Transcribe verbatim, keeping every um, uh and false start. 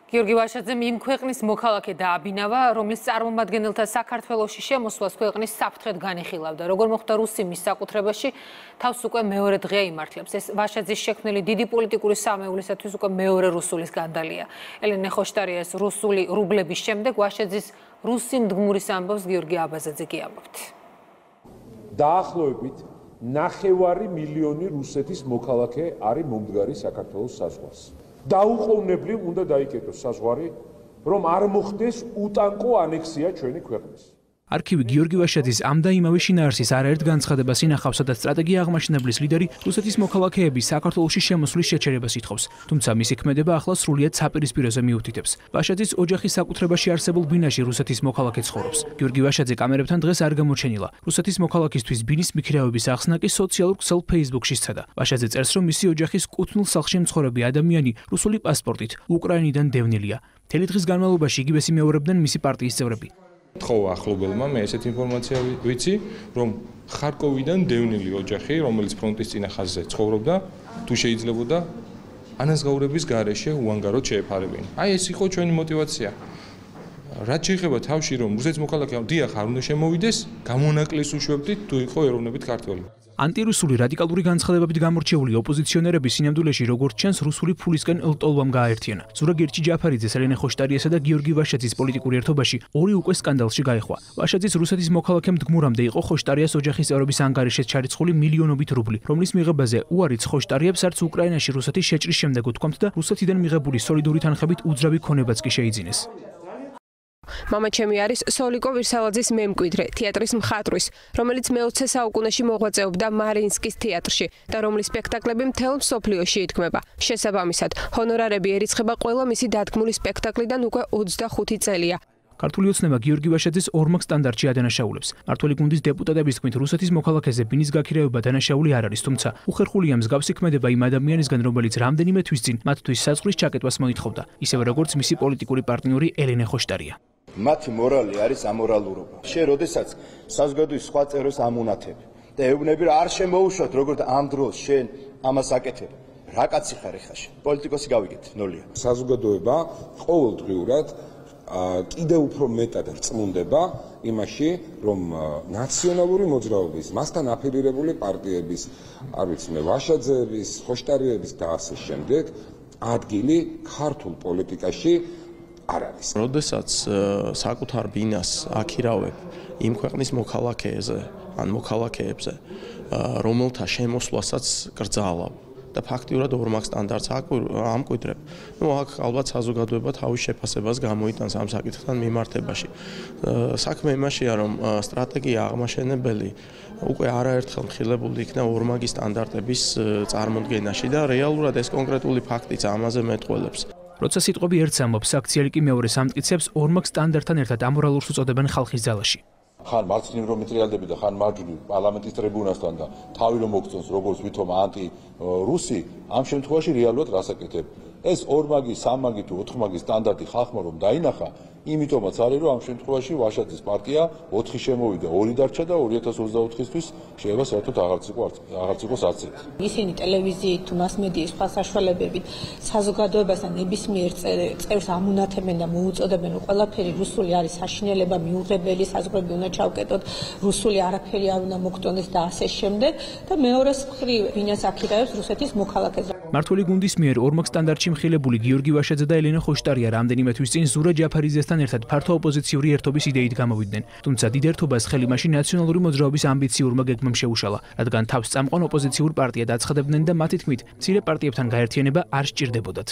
გიორგი ვაშაძემ იმ ქვეყნის მოქალაქე დააბინავა, რომლის წარმომადგენელთა საქართველოში შემოსვლას ქვეყნის საფრთხედ განიხილავდა. Როგორ მოხდა რუსი მის საკუთრებაში, თავს უკვე მეორე დღეა იმართლებს. ეს ვაშაძის შექმნილი დიდი პოლიტიკური სამეულისათვის უკვე მეორე რუსულის განდალია. ელენე ხოშტარიას რუსული რუბლების შემდეგ ვაშაძის რუსი მდგმურის ამბავს გიორგი აბაზაძე კი ამბობთ. დაახლოებით ნახევარი მილიონი რუსეთის მოქალაქე არის მომდგარი საქართველოს საზღვარს. დაუყოვნებლივ უნდა დაიკეტოს საზღვარი, რომ არ მოხდეს უტანკო ანექსია ჩვენი ქვეყნის. არქივი გიორგი ვაშაძის ამ და იმავე შინაარსის არაერთ განცხადებას ინახავს, სადაც სტრატეგია აღმაშენებლის ლიდერი რუსეთის მოქალაქეების საქართველოში შემოსვლის შეჩერებას ითხოვს. თუმცა მისი ქმედება ახლა სრულიად საპირისპიროზე მიუთითებს. ვაშაძის ოჯახის საკუთრებაში არსებულ ბინაში რუსეთის მოქალაქე ცხოვრობს. გიორგი ვაშაძე კამერებთან დღეს არ გამოჩენილა. რუსეთის მოქალაქისთვის ბინის მიქირავების ახსნა კი სოციალურ ქსელ Facebook-ში სცადა. ვაშაძე წერს, რომ მისი ოჯახის კუთვნილ სახლში მცხოვრები ადამიანი რუსული პასპორტით უკრაინიდან დევნილია. მთელი დღის განმავლობაში იგივეს იმეორებდნენ მისი პარტიის წევრები. თხოვა ახლობელმა მე ესეთ ინფორმაცია ვიცი, რომ ხარკოვიდან დევნილი ოჯახი, რომელიც ფრონტის წინა ხაზზე ცხოვრობდა, თუ შეიძლებოდა ანაზღაურების გარეშე უანგაროდ შეეფარებინა. აი ეს იყო ჩვენი мотиваცია. რაც შეეხება თავში, რომ რუსეთის მოქალაქე დიახ არ უნდა შემოვიდეს, გამონაკლისს უშვებდით, თუ იყო ეროვნებით ქართველი. ანტირუსული რადიკალური განცხადებებით გამორჩეული ოპოზიციონერები სინამდვილეში როგორც ჩანს რუსული ფულისკენ ელტოლვამ გააერთიანა. ზურაგ ჯაფარიძეს, ელენე ხოშტარიასა და გიორგი ვაშაძის პოლიტიკური ერთობაში ორი უკვე სკანდალში გაეხვა. ვაშაძის რუსეთის მოქალაქე მდგმურამდე იყო ხოშტარიას ოჯახის წევრების ანგარიშით ჩარიცხული მილიონობით რუბლი, რომლის მიღებაზე უარიც ხოშტარიებს არც უკრაინაში რუსეთის შეჭრის შემდეგ უთქვამთ და რუსეთიდან მიღებული სოლიდური თანხებით უძრავი ქონებაც კი შეიძინეს. მამა ჩემი არის სოლიკო ვირსალაძის მემკვიდრე, თეატრის მხატვრის, რომელიც მეოცე საუკუნეში მოღვაწეობდა მარინსკის თეატრში და რომლის სპექტაკლები მთელ მსოფლიოში ითქმება. შესაბამისად, ჰონორარები ერიცხება ყველა მისი დადგმული სპექტაკლიდან უკვე ოცდახუთი წელია. ქართული ოცნება გიორგი ვაშაძის ორმაგ სტანდარტში ადანაშაულებს. მართველი გუნდის დეპუტატების თქმით, რუსეთის მოქალაქეზე ბინის გაქირავება დანაშაული არ არის, თუმცა უხერხულია მსგავსი ქმედება იმ ადამიანისგან, რომელიც რამდენიმე თვის წინ მათთვის საზღვრის ჩაკეტვას მოითხოვდა, ისევე როგორც მისი პოლიტიკური პარტნიორი ელენე ხოშტარია. მათი მორალი არის ამორალურობა. შენ როდესაც საზოგადოების სხვა წევრებს ამუნათებ და ეუბნები რა არ შემოუშვათ, როგორც ამ დროს შენ ამას აკეთებ. რა კაცი ხარ ხა შენ? პოლიტიკოსი გავიგეთ, ნულია. საზოგადოება ყოველდღიურად კიდევ უფრო მეტად რწმუნდება იმაში, რომ ნაციონალური მოძრაობის, მასთან აფილირებული პარტიების, არ ვიცი მე, ვაშაძეების, ხოშტარიების და ასე შემდეგ ადგილი ქართულ პოლიტიკაში არ არის. როდესაც საკუთარ ბინას აქირავებ იმ ქვეყნის მოქალაქეებზე, ან მოქალაქეებზე, რომელთა შემოსვლასაც კრძალავ და ფაქტიურად ორმაგ სტანდარტს ამკვიდრებ. ნუ აქ ალბათ საზოგადოება თავის შეფასებას გამოიტანს ამ საკითხთან მიმართებაში. საქმე იმაშია, რომ სტრატეგია აღმაშენებელი უკვე არაერთხელ მხილებული იქნა ორმაგი სტანდარტების წარმოდგენაში და რეალურად ეს კონკრეტული ფაქტიც ამაზე მეტყველებს. როცა სიტყვები ერთს ამბობს, აქციელი კი მეორეს ამტკიცებსორმაგ სტანდარტთან ერთად ამორალურს უწოდებენ ხალხის ძალაში. ხან მარცხნივ რომ მეტრიალდები და ხან მარჯვნივ პარლამენტის ტრიბუნასთან და თავი რომ მოგწონს როგორც ვითომ ანტი რუსი, ამ შემთხვევაში რეალურად რას აკეთებ? ეს ორმაგი, სამაგი თუ ოთხმაგი სტანდარტი ხალხმა რომ დაინახა, იმიტომაც არის რომ ამ შემთხვევაში ვაშაძის პარტია ოთხი შემოვიდა, ორი დარჩა და ორი ათას ოცდაოთხისთვის შეიძლება საერთოდ აღარც იყოს აღარც იყოს არც ერთი. ისინი ტელევიზიით თუ მასმედიის სხვა საშუალებებით საზოგადოებასთან ნებისმიერ წევრს ამუნათებენ და მოუწოდებენ, რომ ყველაფერი რუსული არის საშინელება, მიუღებელი, საზღვრები უნდა ჩავკეტოთ, რუსული არაფერი არ უნდა მოგტონდეს და ასე შემდეგ და მეორეს მხრივ ბინას აქირავებს რუსეთის მოქალაქეზე. მართველი გუნდის მიერ ორმაგ სტანდარტში მხილებული გიორგი ვაშაძე და ელენე ხოშტარია რამდენიმე თვის წინ ზურა ჯაფარიძესთან ერთად ფართო ოპოზიციური ერთობის იდეით გამოვიდნენ. თუმცა დიდ ერთობას ხელი მაშინ ნაციონალური მოძრაობის ამბიციურმა გეგმამ შეუშალა, რადგან თავს წამყვან ოპოზიციურ პარტიად აცხადებდნენ და მათი თქმით, მცირე პარტიებთან გაერთიანება არ სჭირდებოდათ.